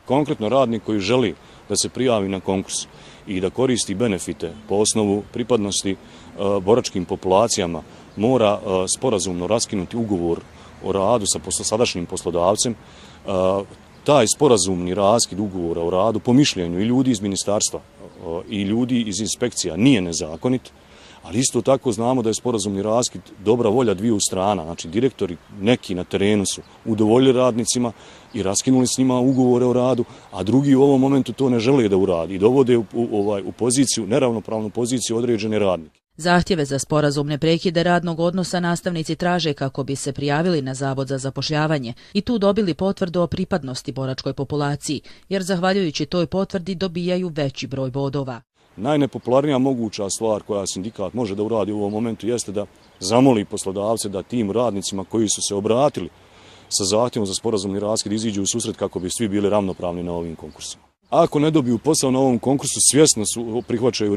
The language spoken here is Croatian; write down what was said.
konkretno radnik koji želi da se prijavi na konkurs i da koristi benefite po osnovu pripadnosti boračkim populacijama, mora sporazumno raskinuti ugovor o radu sa sadašnjim poslodavcem. Taj sporazumni raskid ugovora o radu po mišljenju i ljudi iz ministarstva i ljudi iz inspekcija nije nezakonit, ali isto tako znamo da je sporazumni raskid dobra volja dviju strana. Znači direktori neki na terenu su udovoljili radnicima i raskinuli s njima ugovore o radu, a drugi u ovom momentu to ne žele da uradi i dovode u poziciju, neravnopravnu poziciju određene radnike. Zahtjeve za sporazumne prekide radnog odnosa nastavnici traže kako bi se prijavili na Zavod za zapošljavanje i tu dobili potvrdu o pripadnosti boračkoj populaciji, jer zahvaljujući toj potvrdi dobijaju veći broj bodova. Najnepopularnija moguća stvar koja sindikat može da uradi u ovom momentu jeste da zamoli poslodavce da tim radnicima koji su se obratili sa zahtjevom za sporazumni raskid iziđu u susret kako bi svi bili ravnopravni na ovim konkursima. Ako ne dobiju posao na ovom konkursu, svjesno prihvaćaju